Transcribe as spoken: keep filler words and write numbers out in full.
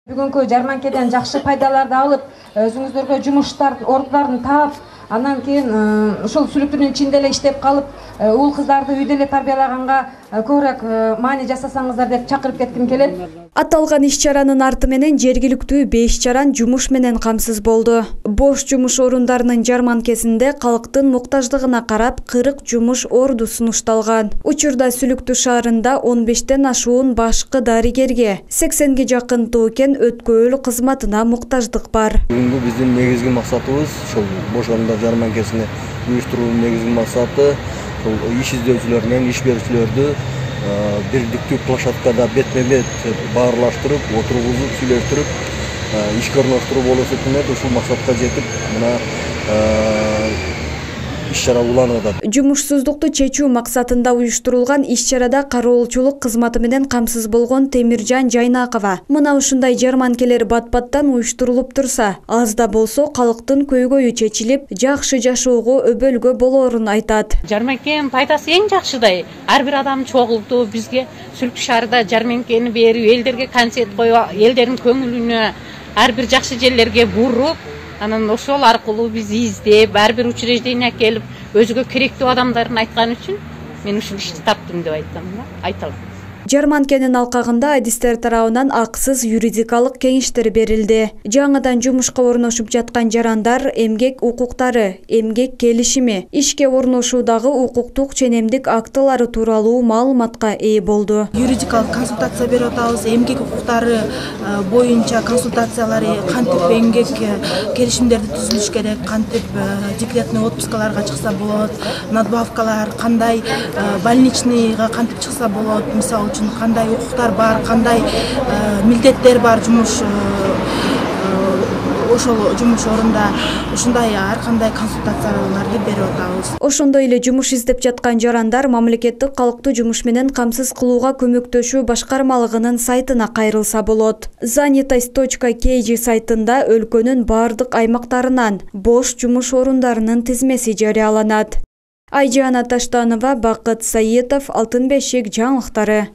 Бүгүнкү жарманкеден жакшы пайдаларды алып, өзүңүздөргө жумуштар, ордуларын таап, андан кийин ушул сүлүктүрдүн ичинде эле иштеп калып, уул кыздарды үйдө эле тарбиялаганга көбүрөөк маани жасасаңыздар деп чакырып кетким келет. Аталган иш-чаранын арты менен жергиликтүү беш жаран жумуш менен камсыз болду. Бош жумуш орундарынын жарманкесинде калктын муктаждыгына карап кырк жумуш орду сунушталган. Учурда Сүлүктүү шаарында он бештен ашуун башкы дарыгерге, сексенге жакын тоокен өткөөл кызматына муктаждык бар. Бүгүнкү биздин негизги максатыбыз ушул бош орундар жарманкесини уюштуруунун негизги максаты иш издөөчүлөр менен иш берүүчүлөрдү бирдиктүү площадкада бетме-бет баарлаштырып, отургузуп, сүйлөштүрүп, ишке орноштуруу болушу үчүн ушул максатка жетип, мына иш-чара уланып атат. Жумушсуздукту чечүү максатында уюштурулган иш-чарада кароолчулук кызматы менен камсыз болгон Темиржан Жайнакова мына ушундай жарманкелер бат-баттан уюштурулуп турса, аз да болсо калктын көйгөйү чечилип, жакшы жашоого өбөлгө болоорун айтат. Жарманкенин пайдасы эң жакшыдай. Ар бир адам чогулду, бизге Сүлүктүү шаарда жарманкени берип, элдерге концерт коюп, элдердин көңүлүнө ар бир жакшы жерлерге буруп, анан ошол аркылуу биз издеп, ар бир учреждение келип, өзүгө керектүү адамдарын айткан үчүн мен ушул ишти таптым деп айтам, айталам. Жарманкенин алкагында адистер тарабынан аксыз юридикалык кеңештер берилди. Жаңыдан жумушка орношуп жаткан жарандар эмгек укуктары, эмгек келишими, ишке орношуудагы укуктук ченемдик актылары тууралуу маалыматка ээ болду. Юридикалык консультация берип атабыз, эмгек укуктары боюнча консультациялары, кантип эмгек келишимдерди түзүлүш керек, кантип декретный отпускаларга чыкса болот, надбавкалар кандай, больничныйга кантип чыкса болот, мисалы кандай укуктар бар, кандай милдеттер бар жумуш ошол жумуш орунда ушундай ар кандай консультацияларды берип атабыз. Ошондой эле жумуш издеп жаткан жарандар мамлекеттик калктуу жумуш менен камсыз кылууга көмөктөшүү башкармалыгынын сайтына кайрылса болот. занятость точка кей джи сайтында өлкөнүн бардык аймактарынан бош жумуш орундарынын тизмеси жарыяланат. Айжана Таштанова, Бакыт Саитов, Алтын бешик жаңылыктары.